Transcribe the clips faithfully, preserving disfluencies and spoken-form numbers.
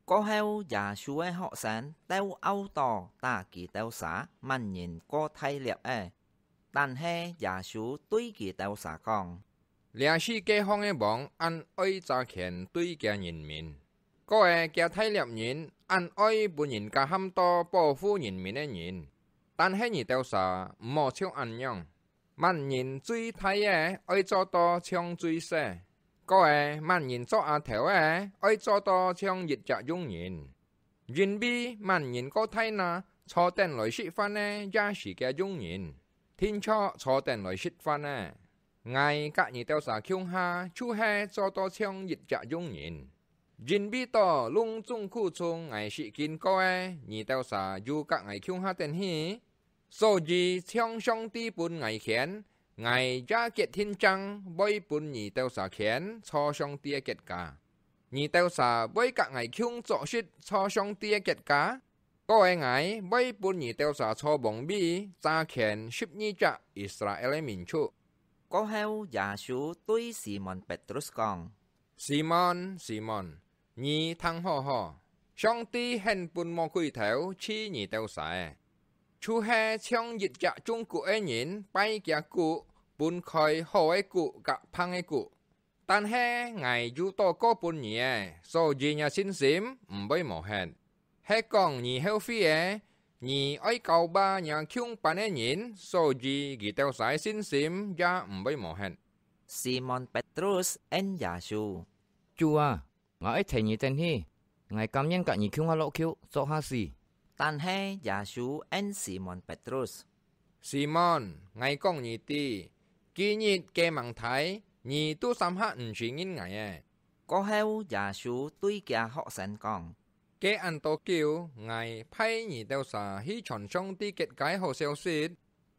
過後，耶穌个學生鬥拗到打佢兜儕，麼人過大粒个。但係耶穌對佢兜儕講：這世界項个王恁愛揸權對厥人民，過个厥大粒人恁愛分人家喊到保護人民个人。但係你兜儕毋好像恁樣。麼人最大个愛做到像最細，過个麼人做阿頭个愛做到像一隻佣人。因為麼人過大那，坐等來食飯个也係厥佣人，定著坐等來食飯个。𠊎佮你兜儕共下，就係做到像一隻佣人。因為到攏總苦衷𠊎食經過个，你兜儕又佮𠊎共下等去。所以像上帝分𠊎權，𠊎也決定正會分你兜儕權坐上帝个國家。你兜儕會佮𠊎共做事坐上帝个國家，過个𠊎會分你兜儕坐王位，揸權十二隻以色列个民族。過後，耶穌對西門Petrus講：西門，西門，你聽好好，上帝肯分魔鬼頭試你兜儕，就係像一隻種穀个人拜厥穀，分開好个穀佮䟓个穀。但係𠊎有禱告分你个，所以若信心毋會無忒。係講你後悔个，你愛教化若共班个人，所以佢兜儕信心也毋會無忒。西門Petrus應耶穌：主啊，𠊎愛跈你等去，𠊎甘願佮你共下落坵，做下死。但係耶穌應西門Petrus：西門，𠊎講你知，今日該吂大，你都三下毋承認𠊎个。過後，耶穌對厥學生講：該恁多久，𠊎派你兜儕去傳上帝國个好消息，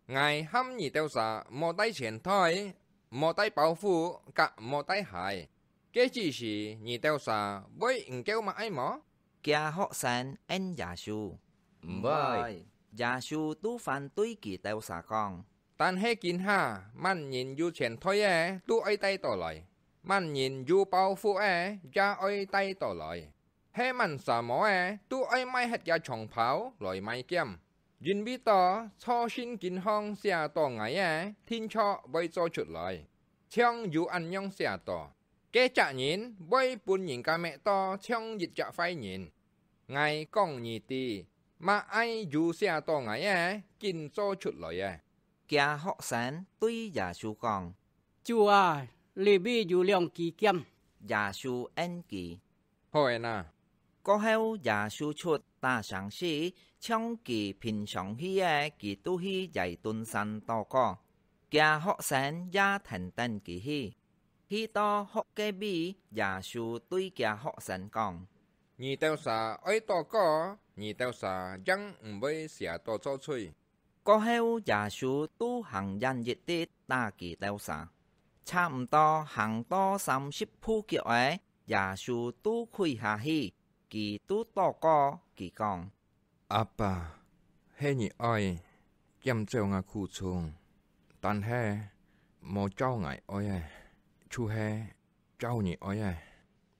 𠊎喊你兜儕莫帶錢袋，莫帶包袱，佮莫帶鞋。該之時你兜儕會毋夠麼个無？厥學生應耶穌：毋會。耶穌都還對佢兜儕講：但係今下，麼人有錢袋个都愛帶倒來，麼人有包袱个也愛帶倒來。 係麼儕無个，都愛賣忒厥長袍來買劍。因為到著聖經項寫到𠊎个，定著會做出來，像有恁樣寫到：該隻人會分人家搣到像一隻壞人。𠊎講你知，麼个有寫到𠊎个，緊做出來个。厥學生對耶穌講：主啊，這位有兩支劍。耶穌應佢：好个啊。過後，耶穌出打聲勢，像佢平常去个，佢就去耶頓山禱告，厥學生也跈等佢去。去到屋个位，耶穌對厥學生講：你兜儕愛禱告，你兜儕正毋會邪到做罪。 過後，耶穌就行遠一息打佢兜儕。差毋多行到三十步腳仔，耶穌就跪下去，佢就禱告，佢講：阿爸，係你愛，減少吾苦衷，但係無照𠊎愛个，就係照你愛个。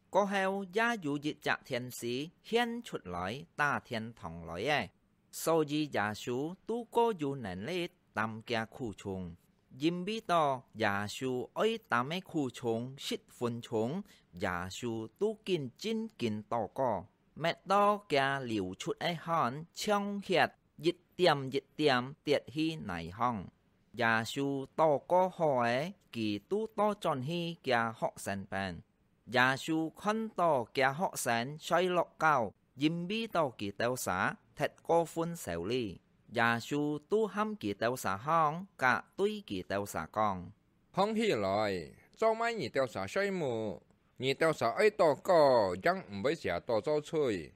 過後，也有一隻天使現出來打天堂來个， 所以耶穌就過有能力擔厥苦衷。因為到耶穌愛擔个苦衷十分重，耶穌就緊真緊禱告，搣到厥流出个汗像血一點一點跌去泥項。耶穌禱告好仔，佢就倒轉去厥學生邊。 耶穌看到厥學生睡落覺，因為到佢兜儕忒過分愁慮。耶穌就喊佢兜儕䟘，甲對佢兜儕講：䟘起來，做麼你兜儕睡目？你兜儕愛禱告，正毋會邪到做罪。